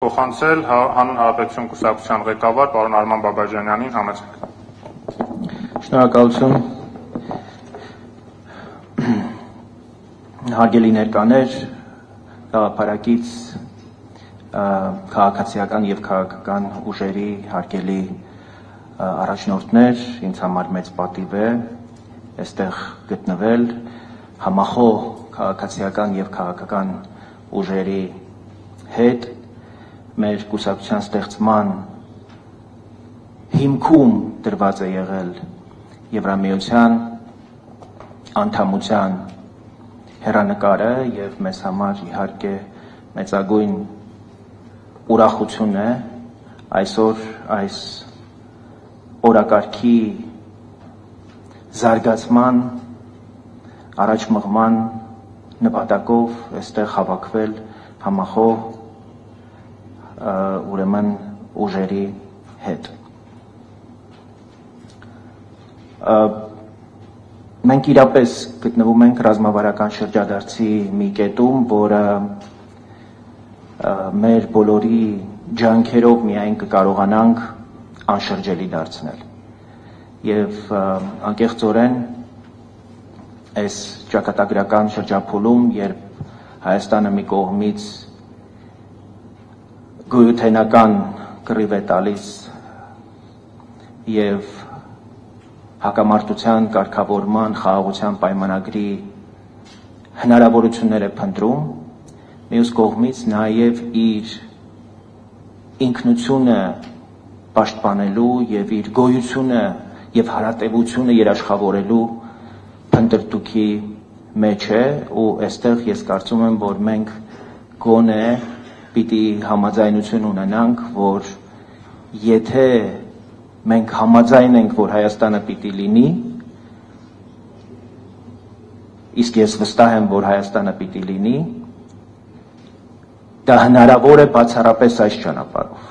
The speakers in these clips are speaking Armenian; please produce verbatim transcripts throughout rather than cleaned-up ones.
փոխանցել Հանուն Հանրապետություն կուսակցության ղեկավար պարոն Արման Բաբաջանյանին համեցեք։ Շնորհակալություն։ Հարգելի ներկաներ, գաղափարակից քաղաքացիական եւ քաղաքական ուժերի հարգելի առաջնորդներ, ինձ համար մեծ պատիվ է այստեղ գտնվել համախոհ քաղաքացիական եւ քաղաքական ուժերի հետ մեր կուսակցության ստեղծման հիմքում դրված է եղել Եվրամիության անդամության հեռանկարը եւ մեզ համար իհարկե մեծագույն ուրախություն է այսօր այս օրակարգի զարգացման առաջ մղման նպատակով այստեղ հավաքվել համախոհ ուրեմն ուժերի հետ։ Մենք իրապես գտնվում ենք ռազմավարական շրջադարձի մի կետում, որը մեր բոլորի ջանքերով միայն կկարողանանք անշրջելի դարձնել։ Եվ անկեղծորեն այս ճակատագրական շրջափուլում, երբ Հայաստանը մի կողմից գոյութենական կռիվ է տալիս եւ հակամարտության կարգավորման խաղաղության պայմանագրի հնարավորություններ է փնտրում, մյուս կողմից նաեւ իր ինքնությունը պաշտպանելու եւ իր գոյությունը եւ հարատեվությունը երաշխավորելու փնտրտուքի մեջ է ու այստեղ ես կարծում եմ, որ մենք գոնե պիտի համաձայնություն ունենանք, որ եթե մենք համաձայն ենք, որ Հայաստանը պիտի լինի, իսկ ես վստահ եմ, որ Հայաստանը պիտի լինի, դա հնարավոր է բացառապես այս ճանապարհով։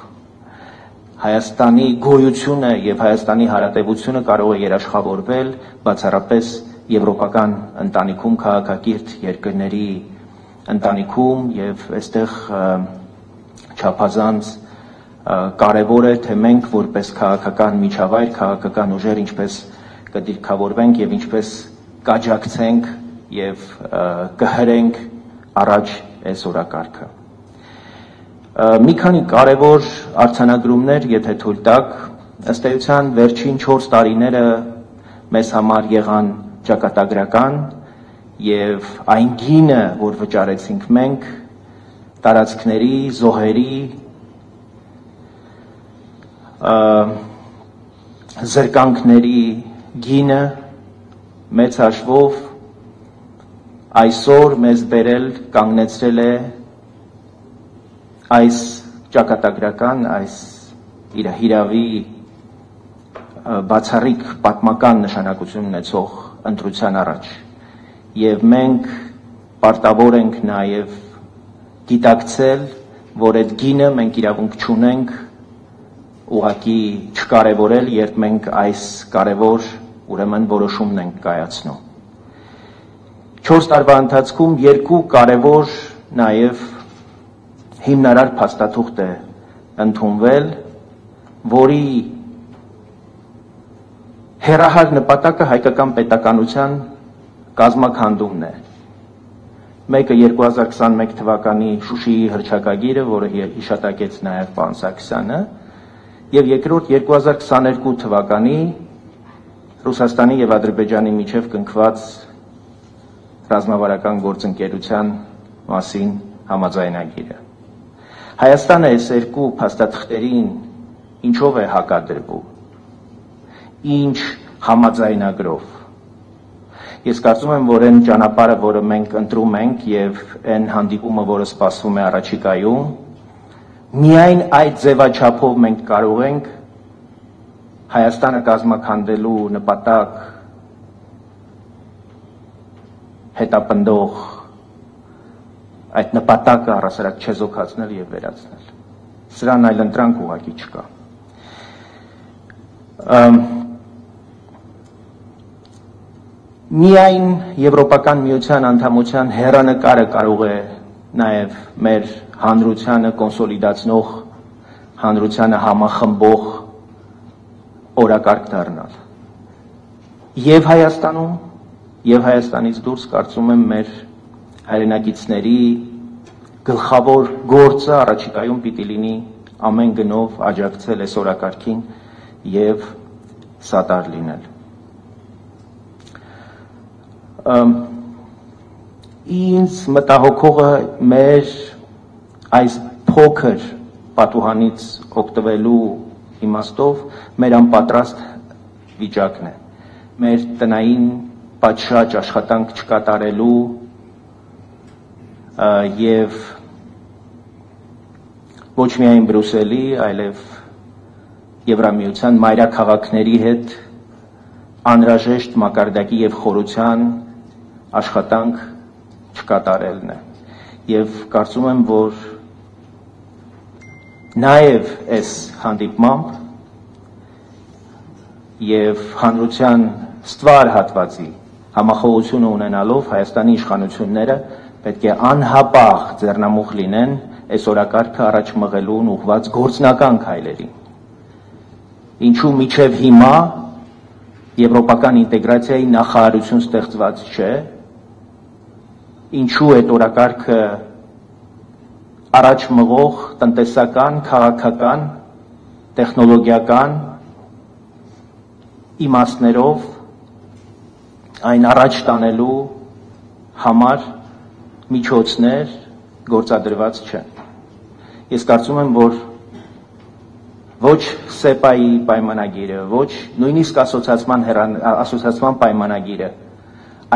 Հայաստանի գոյությունը եւ Հայաստանի հարատեվությունը կարող է երաշխավորվել բացառապես եվրոպական ընտանիքում քաղաքակիրթ երկրների ընտանիքում եւ այստեղ չափազանց կարևոր է թե մենք որպես քաղաքական միջավայր, քաղաքական ուժեր ինչպես կդիրքավորվենք եւ ինչպես կաջակցենք եւ կհրենք առաջ այս օրակարգը։ Մի քանի կարևոր արձանագրումներ, եթե թույլ տաք, ըստ էության վերջին չորս տարիները մեզ համար եղան ճակատագրական եւ այն գինը, որ վճարեցինք մենք, տարածքների, զոհերի, զրկանքների գինը մեծ հաշվով այսօր մեզ բերել կանգնեցրել է այս ճակատագրական, այս իր հիրավի բացառիկ պատմական նշանակություն ունեցող ընտրության առաջ։ Եվ մենք պարտավոր ենք նաև գիտակցել, որ այդ գինը մենք իրավունք չունենք ուղղակի չկարևորել, երբ մենք այս կարևոր ուրեմն որոշումն ենք կայացնում։ Չորս տարվա ընթացքում երկու կարևոր նաև հիմնարար փաստաթուղթ է ընդունվել, որի հեռահար նպատակը հայկական պետականության կազմաքանդումն է։ Մեկը երկու հազար քսանմեկ թվականի Շուշիի հռչակագիրը, որը հիշատակեց նաև պարոն Սարգսյանը, եւ երկրորդ երկու հազար քսաներկու թվականի Ռուսաստանի եւ Ադրբեջանի միջև կնքված ռազմավարական գործընկերության մասին համաձայնագիրը։ Հայաստանը այս երկու փաստաթղթերին ինչով է հակադրվում, ինչ համաձայնագրով։ Ես կարծում եմ, որ այն ճանապարհը, որը մենք ընտրում ենք եւ այն հանդիպումը, որը սպասվում է առաջիկայում, միայն այդ ձևաչափով մենք կարող ենք Հայաստանը կազմաքանդելու նպատակ հետապնդող այդ նպատակը առասարակ չեզոքացնել եւ վերացնել։ Սրան այլ ընտրանք ուղղակի չկա։ Միայն Եվրոպական միության անդամության հեռանկարը կարող է նաև մեր հանրությանը կոնսոլիդացնող, հանրությանը համախմբող օրակարգ դառնալ։ Եվ Հայաստանում, եւ Հայաստանից դուրս կարծում եմ մեր հայրենակիցների գլխավոր գործը առաջիկայում պիտի լինի ամեն գնով աջակցել այս օրակարգին եւ սատար լինել։ Ինձ մտահոգողը մեր այս փոքր պատուհանից օգտվելու իմաստով մեր անպատրաստ վիճակն է։ Մեր տնային պատշաճ աշխատանք չկատարելու եւ ոչ միայն Բրյուսելի, այլև Եվրամիության մայրաքաղաքների հետ անհրաժեշտ մակարդակի եւ խորության աշխատանք չկատարելն է։ Եվ կարծում եմ, որ նաեւ այս հանդիպմամբ եւ հանրության ստվար հատվածի համախոհությունը ունենալով Հայաստանի իշխանությունները պետք է անհապաղ ձեռնամուխ լինեն այս օրակարգը առաջ մղելուն ուղղված գործնական քայլերին։ Ինչու միջև հիմա եվրոպական ինտեգրացիայի նախարարություն ստեղծված չէ, ինչու այդ օրակարգը առաջ մղող տնտեսական, քաղաքական, տեխնոլոգիական իմաստներով այն առաջ տանելու համար միջոցներ գործադրված չեն։ Ես կարծում եմ, որ ոչ սեպայի պայմանագիրը, ոչ նույնիսկ ասոցիացիան ասոցիացիան պայմանագիրը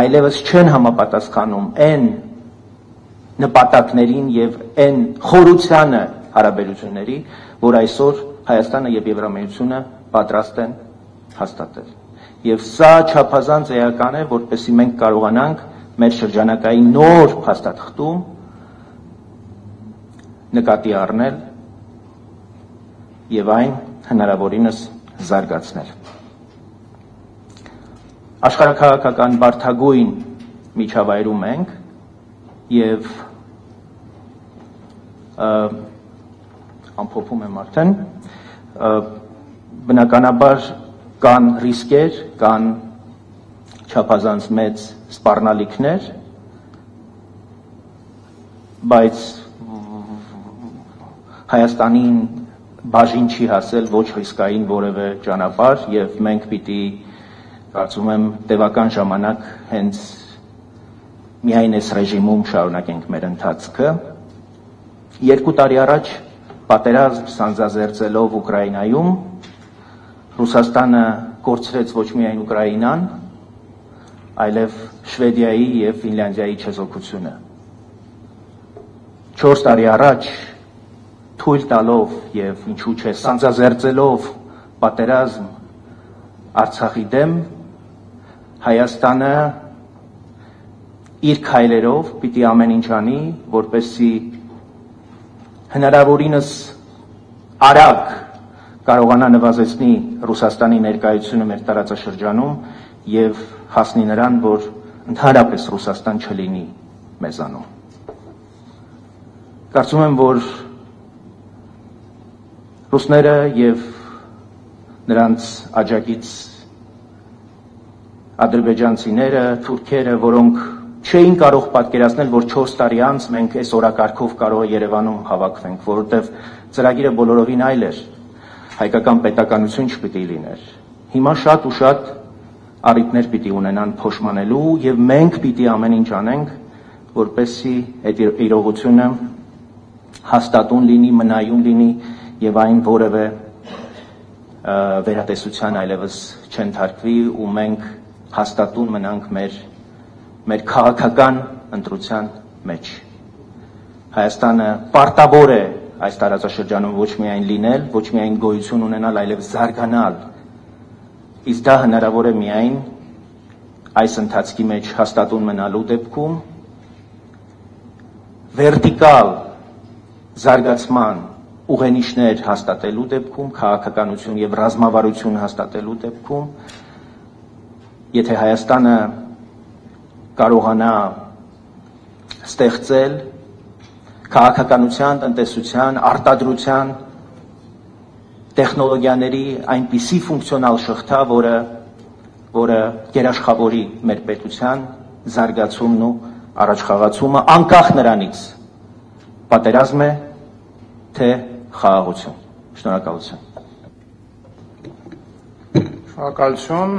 այլևս չեն համապատասխանում այն նպատակներին եւ այն խորությանը հարաբերությունների, որ այսօր Հայաստանը եւ Եվրամիությունը պատրաստ են հաստատել։ Եվ սա չափազանց էական է, որպեսզի մենք կարողանանք մեր շրջանակային նոր փաստաթղթում նկատի առնել եւ այն հնարավորինս զարգացնել։ Աշխարհաքաղաքական բարդագույն միջավայրում ենք եւ ամփոփում եմ արդեն, բնականաբար կան ռիսկեր, կան չափազանց մեծ սպառնալիքներ, բայց Հայաստանին բաժին չի հասել ոչ ռիսկային որևէ ճանապարհ եւ մենք պիտի կարծում եմ տևական ժամանակ հենց միայն այս ռեժիմում շարունակենք մեր ընթացքը։ Երկու տարի առաջ պատերազմ սանձազերծելով Ուկրաինայում Ռուսաստանը կորցրեց ոչ միայն Ուկրաինան, այլև Շվեդիայի եւ Ֆինլանդիայի չեզոքությունը։ Չորս տարի առաջ թույլ տալով եւ ինչու՞ չէ սանձազերծելով պատերազմ Արցախի դեմ, Հայաստանը իր քայլերով պիտի ամեն ինչ անի, որպեսզի հնարավորինս արագ կարողանա նվազեցնի Ռուսաստանի ներկայությունը մեր տարածաշրջանում եւ հասնի նրան, որ ընդհանրապես Ռուսաստան չլինի մեզանում։ Կարծում եմ, որ ռուսները եւ նրանց աջակից ադրբեջանցիները, թուրքերը, որոնք չէին կարող պատկերացնել, որ չորս տարի անց մենք այս օրակարգով կարող է Երևանում հավաքվենք, որովհետեւ ծրագիրը բոլորովին այլ էր, հայկական պետականություն չպիտի լիներ։ Հիմա շատ ու շատ առիթներ պիտի ունենան փոշմանելու եւ մենք պիտի ամեն ինչ անենք, որպեսզի այդ իրողությունը հաստատուն լինի, մնայուն լինի եւ այն որևէ վերատեսության այլևս չընթարկվի ու մենք հաստատուն մնանք մեր մեր քաղաքական ընտրության մեջ։ Հայաստանը պարտավոր է այս տարածաշրջանում ոչ միայն լինել, ոչ միայն գոյություն ունենալ, այլև զարգանալ։ Իսկ դա հնարավոր է միայն այս ընթացքի մեջ հաստատուն մնալու դեպքում, վերտիկալ զարգացման ուղենիշներ հաստատելու դեպքում, քաղաքականություն եւ ռազմավարություն հաստատելու դեպքում, եթե Հայաստանը կարողանա ստեղծել, քաղաքականության, տնտեսության, արտադրության, տեխնոլոգիաների այնպիսի ֆունկցիոնալ շղթա, որը որը երաշխավորի մեր պետության զարգացումն ու առաջխաղացումը անկախ նրանից պատերազմ է, թե խաղաղություն։ Շնորհակալություն։ Շնորհակալություն։